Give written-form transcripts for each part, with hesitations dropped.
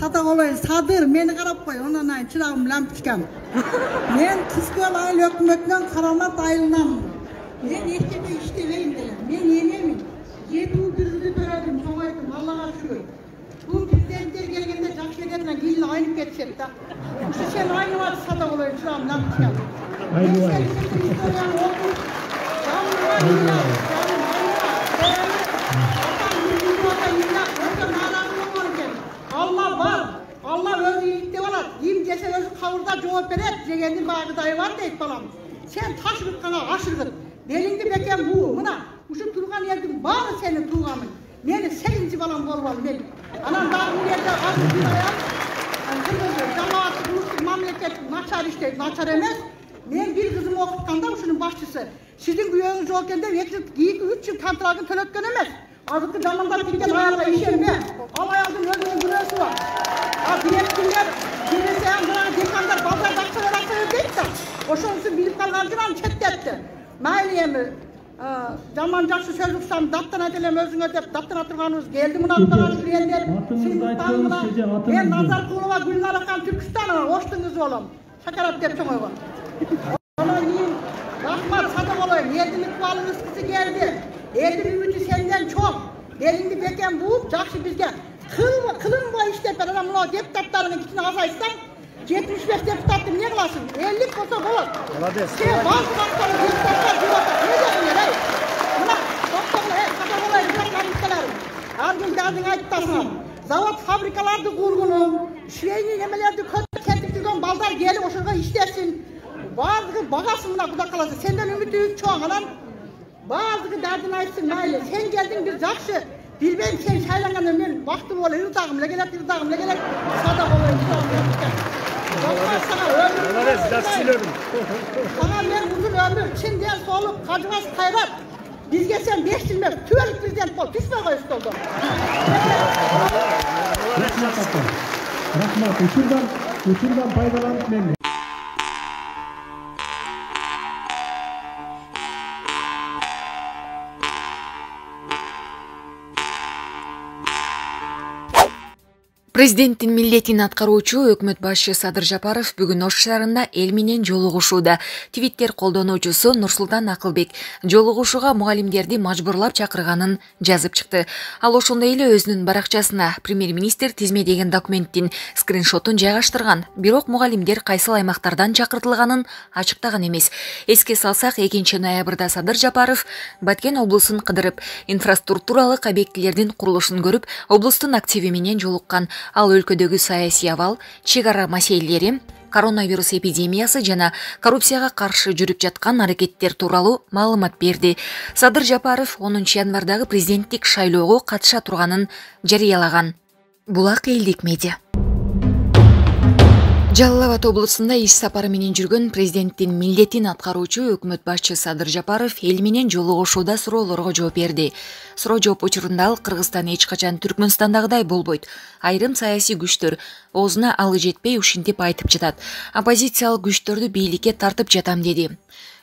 Садағолай, Садыр, мені қарап қой, онан айын чырағым лампочкам. Мен Кыскөл айыл өкмөтүнөн Карамат айылынан. Мен ешкеде иштебейм делем. Мен енемин. 7-1 төрөдүм, соңайтым, Аллага шүгүр. Бул президенттер келгенде жакшы элеринен кийин айнып кетишет да. Ушу сен айныбар Садағолай, чырағым лампочкам. Айныбай. Allah var. Allah özü iyilikte var. Yim dese özü kavurda cevap verir. Cegendin bağı dayı var deyip balam. Sen taş kırkana aşırgın. Belindi beken bu. Buna. Uşun turgan yerdin bağlı senin turganın. Meni 8. balam bolmalı benim. Anam dağın yerde azı bir ayağım. Cemaatı buluştuk memleket naçar işte. Naçar emez. Men bir kızımı okutkanda uşunun başçısı. Sizin güyöğünüz yokken de 2-3 yıl tantragın tönötken emez. Azıklı camından tikten ayağına işerim ben. Al ayağının özünün güresi var. Direktörler, birisi ayağından dekanlar, bazılar daksalar aksalar deyip de. Oşonusu bilip kalanlarcılar çettetti. Mailiyemi, zaman jakşı sözlüksem, daptan etelem özüne deyip, daptan atırganınız geldi mi daptananız diyenler. Ben Nazar Kulova Gülnar Akan Türkistan'a hoştunuz oğlum. Şakarat deyip çoğu var. Ona yiyin, rahmat sadım olayım, yedilik balınız kızı geldi. Edir ümidi senden çok. Belindi beken bu, jakşı bizge. Kılınma işte ben adamla deputatlarının içine azaysan 75 deputatım ne kılasın? 50 olsa olur. Sen bazı bakları deputatlar bir bakar. Ne diyorsun ya? Buna baklarla katakolayı bıraklar ülkelerim. Argın derdin ayıttasın. Zavod fabrikalarda kurgunum. Şüyeyni yemelerde kötü kentiktirden balдар gelip oşurga işlesin. Bazı bagasın buna kuda kalasın. Senden ümidi çok alan. Bazı derdin aytsın mayli. Sen geldin bir jakşı. Bilmem sen şaylanğanda men vaktim ola yutağım, legelep sada olayım. Sana men uzun ömür, Çin'den solup, kacıgaz kayrat. Bizge sen 5 yıl mer, tüvelik prezident bol, düşme koy üstoldu. Rahmat, uçurdan faydalanıp men. Президенттин милдетин аткаруучу өкмөт башчы Садыр Жапаров бүгүн Ош шаарында эл менен жолугушууда. Твиттер колдонуучусу Нурсултан Акылбек жолугушууга мугалимдерди мажбурлап чакырганын жазып чыкты. Ал ошондой эле өзүнүн баракчасына премьер-министр тизмедеген документтин скриншотун жайгаштырган. Бирок мугалимдер кайсыл аймактардан чакыртылганын ачыктаган эмес. Эске салсак, 2 ноябрда Садыр Жапаров Баткен облусун кыдырып, инфраструктуралык объектилердин курулушун көрүп, облустун активи менен жолуккан. Ал өлкөдөгү саясий абал, чек ара маселелери, коронавирус эпидемиясы жана коррупцияга каршы жүрүп жаткан аракеттер тууралуу маалымат берди. Садыр Жапаров 10 январдагы президенттик шайлоого катыша турганын жарыялаган. Булак элдик медиа. Жалал Абад облусунда иш сапары менен жүргөн президенттин милдетин аткаруучу өкмөт башчы Садыр Жапаров эл менен жолугушууда суроолорго жооп берди. Суроо жооп учурунда ал Кыргызстан эч качан Түркмөнстандагыдай болбойт. Айрым саясий күчтөр оозуна алы жетпей ушинтип айтып жатат. Оппозициялык күчтөрдү бийликке тартып жатам деди.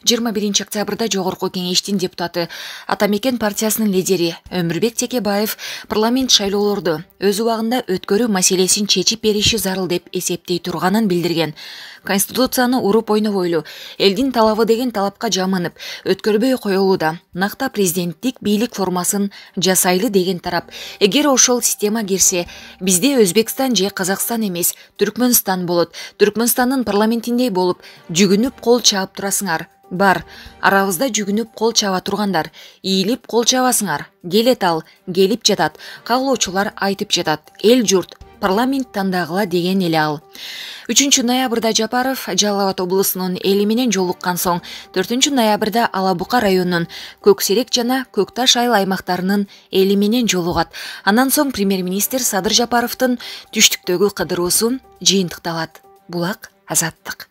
21 октябрда Жогорку кеңештин депутаты, Атамекен партиясынын лидери Өмүрбек Текебаев парламент шайлоолорду өз убагында өткөрүү маселесин чечип бериши зарыл деп эсептей турганын билдирген. Конституцияны уруп ойнобойлу, элдин талабы деген талапка жамынып, өткөрбөй коюлууда. Накта президенттик бийлик формасын жасайлы деген тарап. Эгер ошол система кирсе, бизде Өзбекстан же Казакстан эмес, Түркмөнстан болот. Түркмөнстандын парламентиндей болуп, жүгүнүп кол чаап турасыңар. Бар, арабызда жүгүнүп кол чаба тургандар, ийилип кол чабасыңар. Келет ал, келип жатат, кагылуучулар айтып жатат. Эл журт, парламент тандагыла деген эле ал. 3 ноябрда Жапаров Жалал Абад облусунун эли менен жолуккан соң, 4 ноябрда Ала Бука районунун Көксерек жана Көкташ айыл аймактарынын эли менен жолугат. Андан соң премьер-министр Садыр Жапаровдун түштүктөгү кыдыруусу жыйынтыкталат. Булак, азаттык.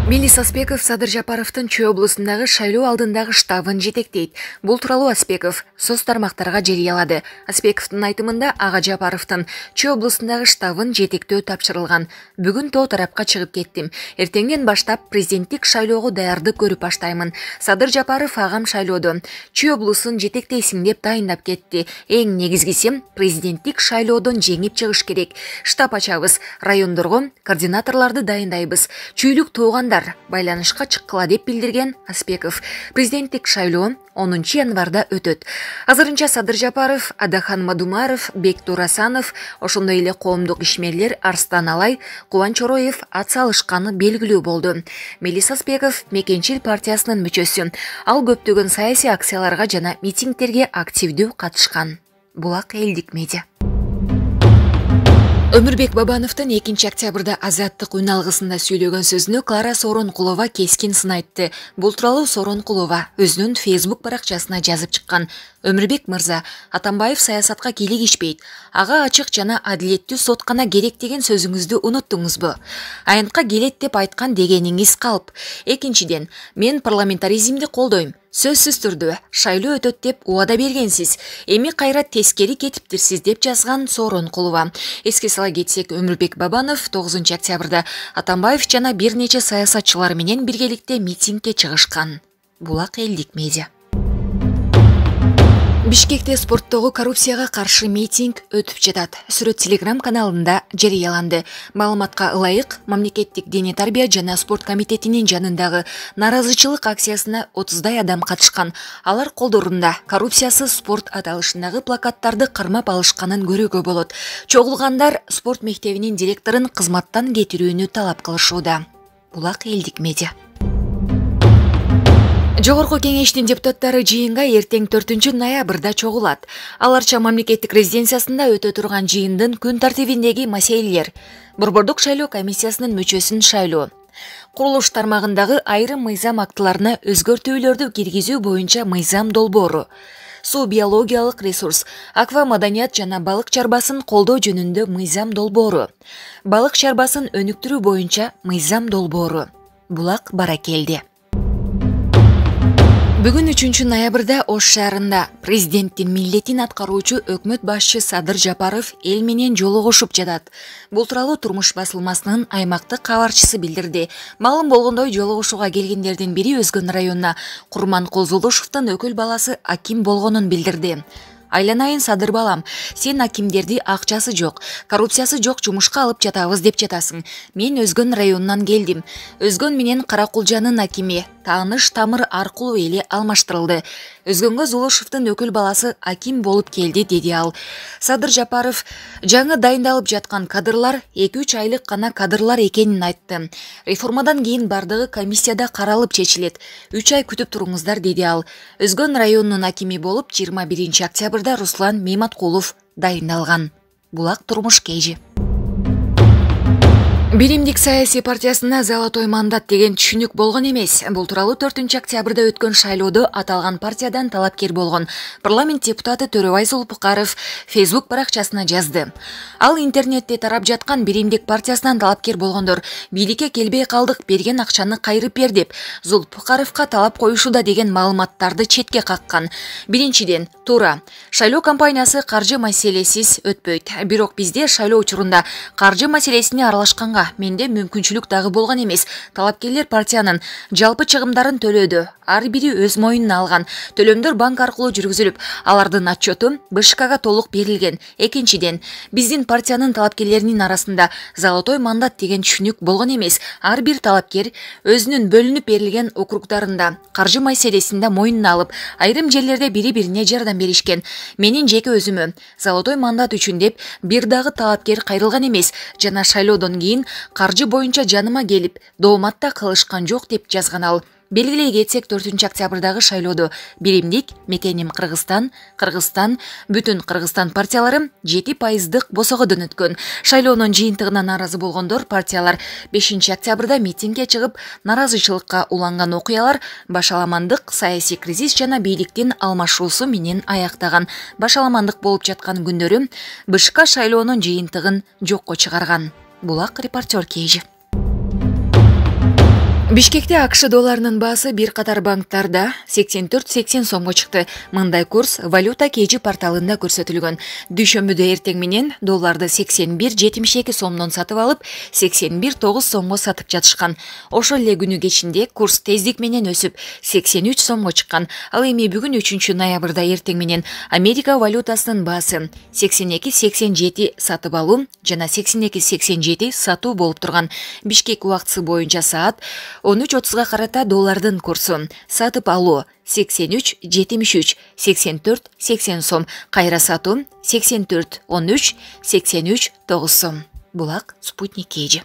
Мелис Аспеков Садыр Жапаровдун Чүй облусундагы шайлоо алдындагы штабын жетектейт. Бул тууралуу Аспеков соц тармактарга жарыялады. Аспековдун айтымында ага Жапаровдун Чүй облусундагы штабын жетектөө тапшырылган. Бүгүн тоо тарапка чыгып кеттим. Эртеңден баштап президенттик шайлоого даярдык көрүп баштаймын. Садыр Жапаров агам шайлоодо Чүй облусун жетектейсиң деп дайындап кетти. Эң негизгиси президенттик шайлоодон жеңип чыгыш керек. Штаб ачабыз, райондорго координаторлорду дайындайбыз. Чүйлүк туугандар байланышка чыккыла деп билдирген Аспеков. Президенттик шайлоо 10 январда өтөт. Азырынча Садыр Жапаров, Адахан Мадумаров, Бек Турасанов, ошондой эле коомдук ишмерлер Арстан Алай, Кубанч Ороев ат салышканы белгилүү болду. Мелис Аспеков Мекенчил партиясынын мүчөсү. Ал көптөгөн саясий акцияларга жана митингтерге активдүү катышкан. Булак элдик медиа. Өмүрбек Бабановдун 2 октябрда Азаттык үн алгысында сүйлөгөн сөзүнө Клара Сооронкулова кескин сын айтты. Бул тууралуу Сооронкулова өзүнүн Facebook баракчасына жазып чыккан. Өмүрбек мырза, Атамбаев саясатка кийлигишпейт. Ага ачык жана адилеттүү сот гана керек деген сөзүңүздү унуттуңузбу? Аянтка келет деп айткан дегениңиз калп. Экинчиден, мен парламентаризмди колдойм. Сөзсүз түрдө шайлоо өтөт деп убада бергенсиз. Эми кайра тескери кетиптирсиз деп жазган Сооронкулова. Эске сала кетсек, Өмүрбек Бабанов 9 октябрда Атамбаев жана бир нече саясатчылар менен биргеликте митингге чыгышкан. Булак элдик медиа. Бишкекте спорттогу коррупцияга каршы митинг өтүп жатат. Сүрөт Telegram каналында жарыяланды. Маалыматка ылайык, мамлекеттик дене тарбия жана спорт комитетинин жанындагы наразычылык акциясына 30дай адам катышкан. Алар колдорунда коррупциясыз спорт аталышындагы плакаттарды кармап алышканын көрүүгө болот. Чогулгандар спорт мектебинин директорун кызматтан кетирүүнү талап кылышууда. Булак элдик медиа. Жогорку кеңештин депутаттары жыйынга эртең 4 ноябрда чогулат. Аларча мамлекеттик резиденциясында өтө турган жыйындын күн тартибиндеги маселелер: Борбордук шайлоо комиссиясынын мүчөсүн шайлоо, курулуш тармагындагы айрым мыйзам актыларына өзгөртүүлөрдү киргизүү боюнча мыйзам долбоору, суу биологиялык ресурс, аква маданият жана балык чарбасын колдоо жөнүндө мыйзам долбоору, балык чарбасын өнүктүрүү боюнча мыйзам долбоору. Булак баракелди. Бүгүн 3 ноябрда Ош шаарында президенттин милдетин аткаруучу өкмөт башчы Садыр Жапаров эл менен жолугушуп жатат. Бул тууралуу Турмуш басылмасынын аймактык кабарчысы билдирди. Маалым болгондой, жолугушууга келгендердин бири Өзгөн районуна Курманкул Зулушевдун өкүл баласы Аким болгонун билдирди. Айланайын Садыр балам, сен акимдерди акчасы жок, коррупциясы жок жумушка алып жатабыз деп жатасың. Мен Өзгөн районунан келдим. Өзгөн менен Каракулжанын акими тааныш тамыр аркылуу эле алмаштырылды. Өзгөнгө Зулушевдун өкүл баласы аким болуп келди, деди ал. Садыр Жапаров жаңы дайындалып жаткан кадрлар 2-3 айлык гана кадрлар экенин айтты. Реформадан кийин бардыгы комиссияда каралып чечилет. 3 ай күтүп туруңуздар, деди ал. Өзгөн районунун акими болуп 21 октябрда Руслан Мейматкулов дайындалган. Булак турмуш кейжи. Биримдик саясий партиясына золотой мандат деген түшүнүк болгон эмес. Бул тууралуу 4 октябрда өткөн шайлоодо аталган партиядан талапкер болгон парламент депутаты Төрөбай Зулпукаров Facebook баракчасына жазды. Ал интернетте тарап жаткан Биримдик партиясынан талапкер болгондор бийликке келбей калдык, берген акчаны кайрып бер деп Зулпукаровго талап коюшууда деген маалыматтарды четке каккан. Биринчиден, туура, шайлоо кампаниясы каржы маселесиз өтпөйт. Бирок бизде шайлоо учурунда каржы маселесине аралашканга менде мүмкүнчүлүк дагы болгон эмес. Талапкерлер партиянын жалпы чыгымдарын төлөөдө ар бири өз моюнуна алган. Төлөмдөр банк аркылуу жүргүзүлүп, алардын отчету БШКга толук берилген. Экинчиден, биздин партиянын талапкерлеринин арасында золотой мандат деген түшүнүк болгон эмес. Ар бир талапкер өзүнүн бөлүнүп берилген округдарында каржы маселесинде моюнуна алып, айрым жерлерде бири-бирине жардам беришкен. Менин жеке өзүмө золотой мандат үчүн деп бир дагы талапкер кайрылган эмес жана шайлоодон кийин каржы боюнча жаныма келип, дооматта кылышкан жок деп жазган ал. Белгилей кетсек, 4 октябрдагы шайлоодо Биримдик, Мекеним Кыргызстан, Бүтүн Кыргызстан партиялары 7% босогодон өткөн. Шайлоонун жыйынтыгына наразы болгондор партиялар 5 октябрда митингге чыгып, наразычылыкка уланган окуялар башаламандык, саясий кризис жана бийликтин алмашуусу менен аяктаган. Башаламандык болуп жаткан күндөрү БШК шайлоонун жыйынтыгын жокко чыгарган. Булак репортер кейжи. Бишкекте АКШ долларынын баасы бир катар банктарда 84-80 сомго чыкты. Мындай курс валюта KG порталында көрсөтүлгөн. Дүйшөмбүдө эртең менен долларды 81-72 сомдон сатып алып, 81-9 сомго сатып жатышкан. Ошол эле күнү кечинде курс тездик менен өсүп, 83 сомго чыккан. Ал эми бүгүн 3 ноябрда эртең менен Америка валютасынын баасы 82-87 сатып алуу жана 82-87 сатуу болуп турган. Бишкек убактысы боюнча саат 13:30 карата доллардын курсу сатып алуу 83-73, 84-80 сом, кайра сатуу 84-13, 83-9 сом. Булак Спутник KG.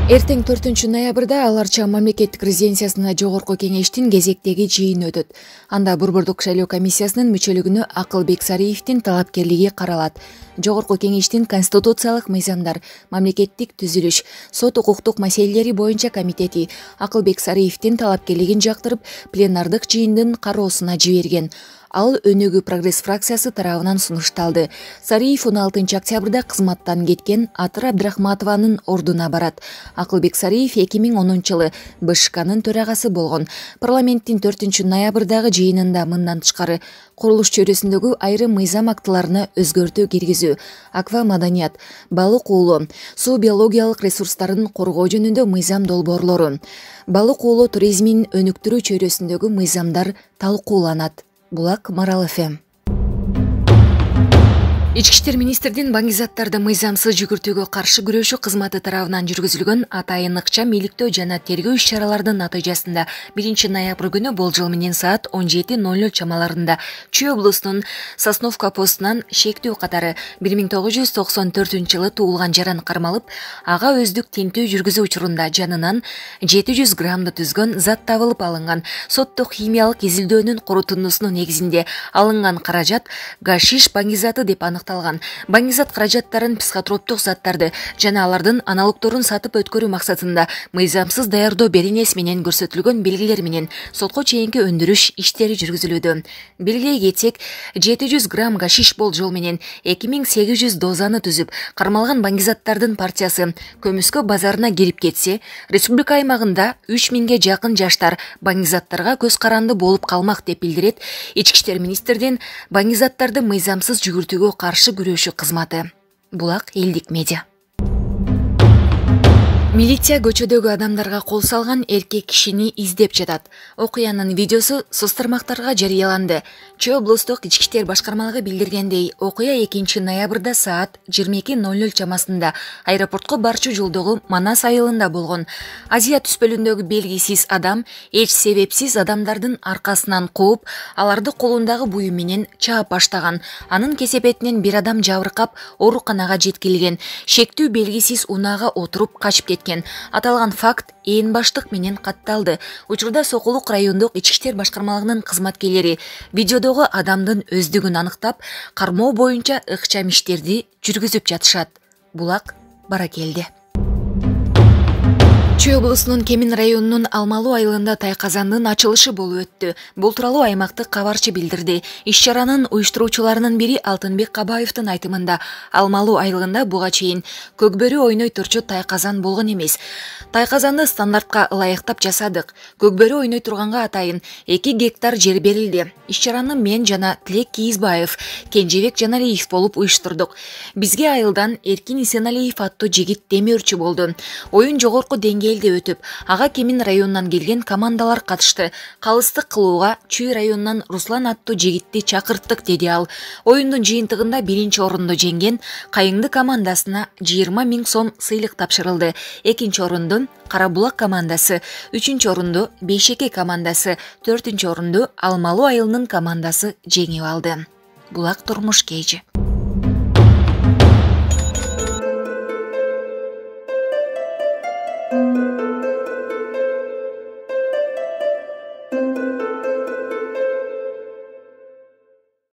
Эртең 4 ноябрда Аларча мамлекеттик резиденциясында жогорку кеңештин кезектеги жыйыны өтөт. Анда Борбордук шайлоо комиссиясынын мүчөлүгүнө Акылбек Сариевдин талапкерлиги каралат. Жогорку кеңештин конституциялык мыйзамдар, мамлекеттик түзүлүш, сот укуктук маселелери боюнча комитети Акылбек Сариевдин талапкерлигин жактырып, пленардык жыйындын кароосуна жиберген. Ал Өнөгү Прогресс фракциясы тарабынан сунушталды. Сариев 16 октябрда кызматтан кеткен Атыр Абдрахматованын ордуна барат. Акылбек Сариев 2010-жылы БШКнын төрагасы болгон. Парламенттин 4 ноябрдагы жыйынында мындан тышкары курулуш чөйрөсүндөгү айрым мыйзам актыларына өзгөртүү киргизүү, аква маданият, балык уулоо, суу биологиялык ресурстарын коргоо жөнүндө мыйзам долбоорлору, балык уулоо туризмин өнүктүрүү чөйрөсүндөгү мыйзамдар талкууланат. Булак Марал ФМ. Ички иштер министрдин баңгизаттарды мыйзамсыз жүгүртүүгө каршы күрөшүү кызматы тарабынан жүргүзүлгөн атайын ыкчам иликтөө жана тергөө иш-чараларынын натыйжасында 1 ноябрь күнү болжол менен саат 17:00 чамаларында Чүй облусунун Сосновка постунан шектүү катары 1994-жылы туулган жаран кармалып, ага өздүк тинтүү жүргүзүү учурунда жанынан 700 граммды түзгөн зат табылып алынган. Соттук химиялык изилдөөнүн корутундусунун негизинде алынган каражат гашиш баңгизаты деп Баңгизат каражаттарын психотроптук заттарды жана алардын аналогдорун сатып өткөрүү максатында мыйзамсыз даярдоо беренеси менен көрсөтүлгөн белгилер менен сотко чейинки өндүрүш иштери жүргүзүлүүдө. Белгилей кетсек, 700 грамм гашиш болжол менен 2800 дозаны түзүп, кармалган баңгизаттардын партиясы Көмүскө базарына кирип кетсе, республика аймагында 3000ге жакын жаштар баңгизаттарга көз каранды болуп калмак деп билдирет Ички иштер министрдин баңгизаттарды мыйзамсыз жүгүртүүгө каршы күрөшүү кызматы. Булак Элдик медиа. Милиция көчөдөгү адамдарга кол салган эркек кишини издеп жатат. Окуянын видеосу соц тармактарга жарыяланды. Чүй облустук ички иштер башкармалыгы билдиргендей, окуя 2 ноябрда саат 22:00 чамасында аэропортко барчу жолдогу Манас айылында болгон. Азия түспөлүндөгү белгисиз адам эч себепсиз адамдардын аркасынан кууп, аларды колундагы буюм менен чаап баштаган. Анын кесепетинен бир адам жабыркап, ооруканага жеткирилген. Шектүү белгисиз унаага отуруп качып кеткен. Аталган факт ээн баштык менен катталды. Учурда Сокулук райондук ички иштер башкармалыгынын кызматкерлери видеодогу адамдын өздүгүн аныктап, кармоо боюнча ыкчам иштерди жүргүзүп жатышат. Булак Баракелди. Чүй облусунун Кемин районунун Алмалуу айылында тайказандын ачылышы болуп өттү. Бул тууралуу аймактык кабарчы билдирди. Иш-чаранын уюштуруучуларынын бири Алтынбек Кабаевдин айтымында, Алмалуу айылында буга чейин көкбөрү ойной турчу тайказан болгон эмес. Тайказанды стандартка ылайыктап жасадык. Көкбөрү ойной турганга атайын 2 гектар жер берилди. Иш-чараны мен жана Тилек Кийизбаев, Кенжебек Жаналиев болуп уюштурдук. Бизге айылдан Эркин Исеналиев аттуу жигит демөөрчү болду. Оюн жогорку деңгээлде өтүп, ага Кемин районунан келген командалар катышты. Калыстык кылууга Чүй районунан Руслан аттуу жигитти чакырттык, деди ал. Оюндун жыйынтыгында 1 орунду жеңген Кайыңды командасына 20 000 сом сыйлык тапшырылды. 2 орунду Карабулак командасы, 3 орунду Бейшеке командасы, 4 орунду Алмалуу айылынын командасы жеңип алды. Булак Турмуш KG.